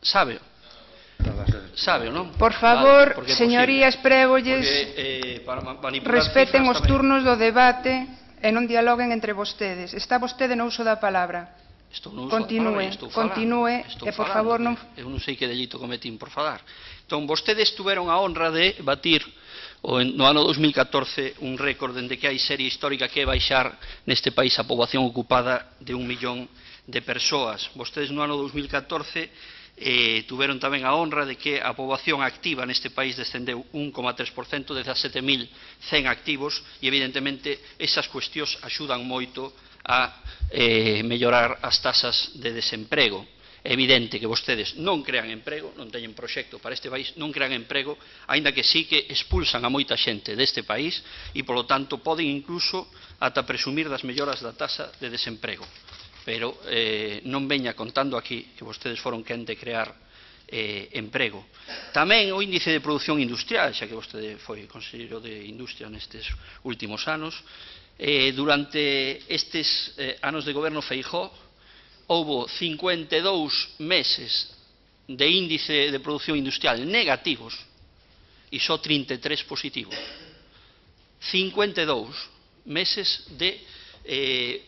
Sábeo? Sábeo, non? Por favor, señorías, prégolles, respeten os turnos do debate e non dialoguen entre vostedes. Está vostede no uso da palabra. Continúe, e por favor non... Eu non sei que delito cometín por falar. Entón, vostedes tuveron a honra de batir no ano 2014 un récord dende que hai serie histórica que é baixar neste país a poboación ocupada de 1 millón de persoas. Vostedes no ano 2014 tuveron tamén a honra de que a poboación activa neste país descendeu 1,3%, 17.100 activos, e evidentemente esas cuestións axudan moito a mellorar as tasas de desemprego. É evidente que vostedes non crean emprego, non teñen proxecto para este país, non crean emprego, aínda que sí que expulsan a moita xente deste país e, polo tanto, poden incluso ata presumir das melloras da tasa de desemprego. Pero non veña contando aquí que vostedes foron quen de crear emprego. Tamén o índice de produción industrial, xa que vostede foi conselleiro de Industria nestes últimos anos, durante estes anos de goberno Feijóo houbo 52 meses de índice de produción industrial negativos e só 33 positivos. 52 meses de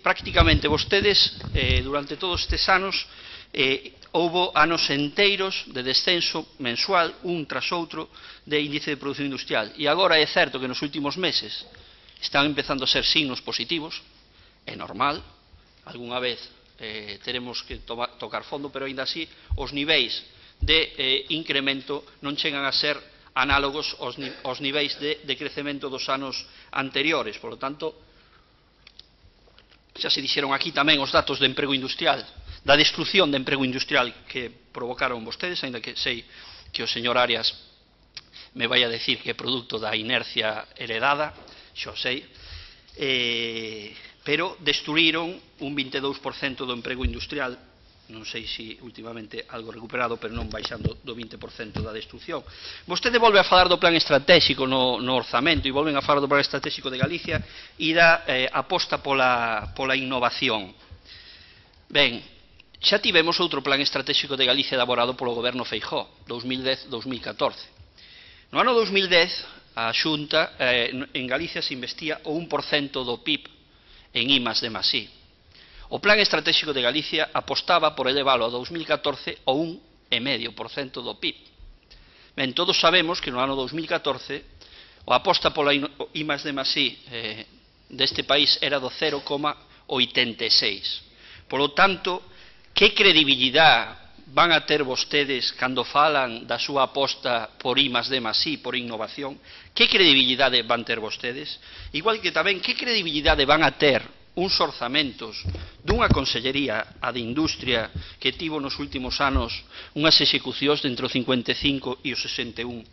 prácticamente vostedes durante todos estes anos houbo anos enteiros de descenso mensual un tras outro de índice de produción industrial, e agora é certo que nos últimos meses están empezando a ser signos positivos, é normal, algunha vez teremos que tocar fondo, pero aínda así os niveis de incremento non chegan a ser análogos aos niveis de crecemento dos anos anteriores. Por lo tanto, xa se dixeron aquí tamén os datos de emprego industrial, da destrucción de emprego industrial que provocaron vostedes, aínda que sei que o señor Arias me vai a decir que é produto da inercia heredada, xo sei, pero destruíron un 22% do emprego industrial, non sei se últimamente algo recuperado, pero non baixando do 20% da destrucción. Vostede volve a falar do plan estratégico no orzamento, e volven a falar do plan estratégico de Galicia e da aposta pola innovación. Ben, xa tivemos outro plan estratégico de Galicia elaborado polo goberno Feijóo, 2010-2014. No ano 2010, a Xunta, en Galicia se investía o 1% do PIB en I+D+I. O Plan Estratégico de Galicia apostaba por elevalo a 2014 ao 1,5% do PIB. Ben, todos sabemos que no ano 2014 a aposta pola I+D+I deste país era do 0,86. Por lo tanto, que credibilidade van a ter vostedes cando falan da súa aposta por I+D+I, por innovación? Que credibilidade van ter vostedes? Igual que tamén, que credibilidade van a ter uns orzamentos dunha consellería, a de Industria, que tivo nos últimos anos unhas execucións de entre o 55 e o 61%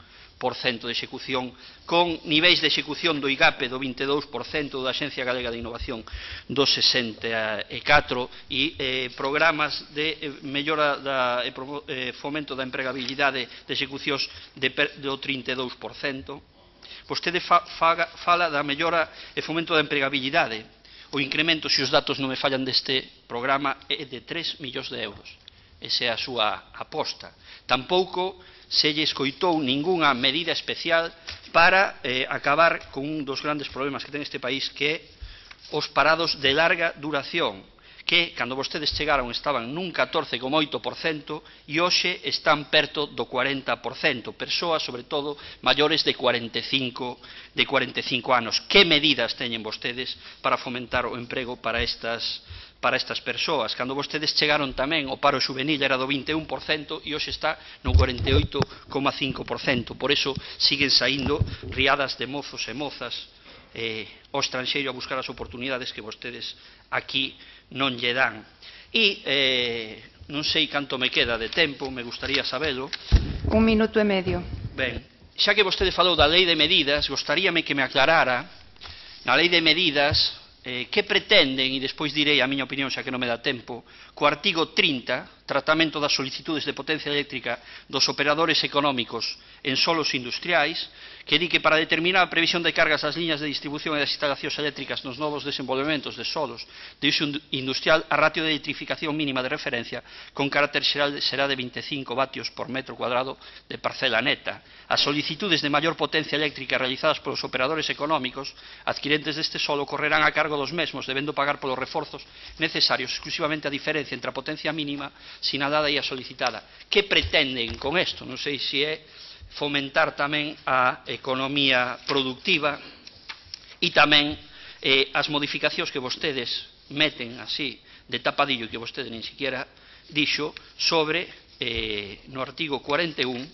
de execución, con niveis de execución do IGAPE do 22%, da Axencia Galega de Innovación do 64%, e programas de mellora fomento da empregabilidade de execucións do 32%. Vostede fala da mellora e fomento da empregabilidade. O incremento, se os datos non me fallan deste programa, é de 3 millóns de euros. Esa é a súa aposta. Tampouco se lle escoitou ningunha medida especial para acabar con un dos grandes problemas que ten este país, que é os parados de larga duración, que, cando vostedes chegaron, estaban nun 14,8% e hoxe están perto do 40%, persoas, sobre todo, maiores de 45 anos. Que medidas teñen vostedes para fomentar o emprego para estas persoas? Cando vostedes chegaron tamén, o paro xuvenil era do 21% e hoxe está no 48,5%. Por eso siguen saindo riadas de mozos e mozas ao estranxeiro a buscar as oportunidades que vostedes aquí non lle dan. E non sei canto me queda de tempo, me gustaría sabelo. 1 minuto e medio. Ben, xa que vostede falou da lei de medidas, gostaríame que me aclarara na lei de medidas que pretenden, e despois direi a miña opinión xa que non me dá tempo, co artigo 30 tratamento das solicitudes de potencia eléctrica dos operadores económicos en solos industriais, que di que para determinar a previsión de cargas das liñas de distribución e das instalacións eléctricas nos novos desenvolvementos de solos de uso industrial, a ratio de electrificación mínima de referencia con carácter xeral será de 25 vatios por metro cuadrado de parcela neta. As solicitudes de maior potencia eléctrica realizadas polos operadores económicos adquirentes deste solo correrán a cargo dos mesmos, debendo pagar polos reforzos necesarios exclusivamente a diferencia entre a potencia mínima sinalada e a solicitada. Que pretenden con isto? Non sei se é fomentar tamén a economía productiva e tamén as modificacións que vostedes meten así de tapadillo, que vostede nin siquiera dixo, sobre no artigo 41,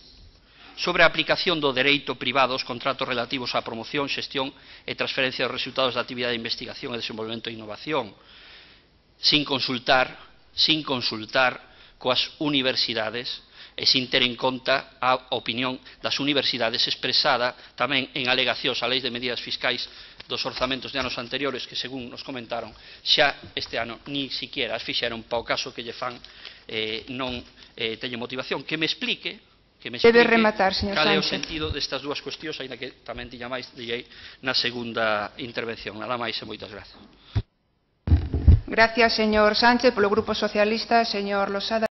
sobre a aplicación do dereito privado aos contratos relativos á promoción, xestión e transferencia dos resultados da actividade de investigación e desenvolvemento e innovación, sin consultar coas universidades e sin ter en conta a opinión das universidades expresada tamén en alegacións a leis de medidas fiscais dos orzamentos de anos anteriores que, según nos comentaron, xa este ano ni siquiera as fixeron para o caso que lle fan non teñen motivación. Que me explique debe rematar, señor cal é o Sánchez. sentido destas dúas cuestións, aínda que tamén tiña máis direi na segunda intervención. Nada máis e moitas grazas. Gracias, señor Sánchez. Polo Grupo Socialista, señor Losada.